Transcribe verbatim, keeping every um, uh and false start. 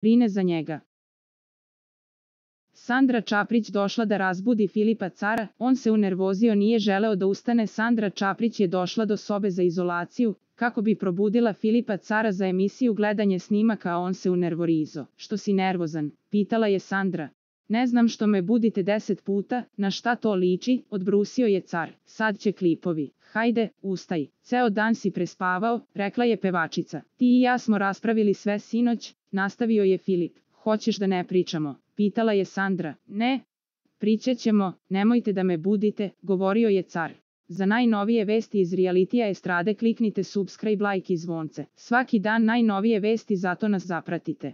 brine za njega. Sandra Čaprić došla da razbudi Filipa Cara, on se unervozio, nije želeo da ustane. Sandra Čaprić je došla do sobe za izolaciju, kako bi probudila Filipa Cara za emisiju gledanje snimaka, a on se unervorizo. Što si nervozan? Pitala je Sandra. Ne znam, što me budite deset puta, na šta to liči, odbrusio je Car. Sad će klipovi. Hajde, ustaj. Ceo dan si prespavao, rekla je pevačica. Ti i ja smo raspravili sve sinoć, nastavio je Filip. Hoćeš da ne pričamo? Pitala je Sandra. Ne, pričat ćemo, nemojte da me budite, govorio je Car. Za najnovije vesti iz realitija estrade kliknite subscribe, like i zvonce. Svaki dan najnovije vesti, zato nas zapratite.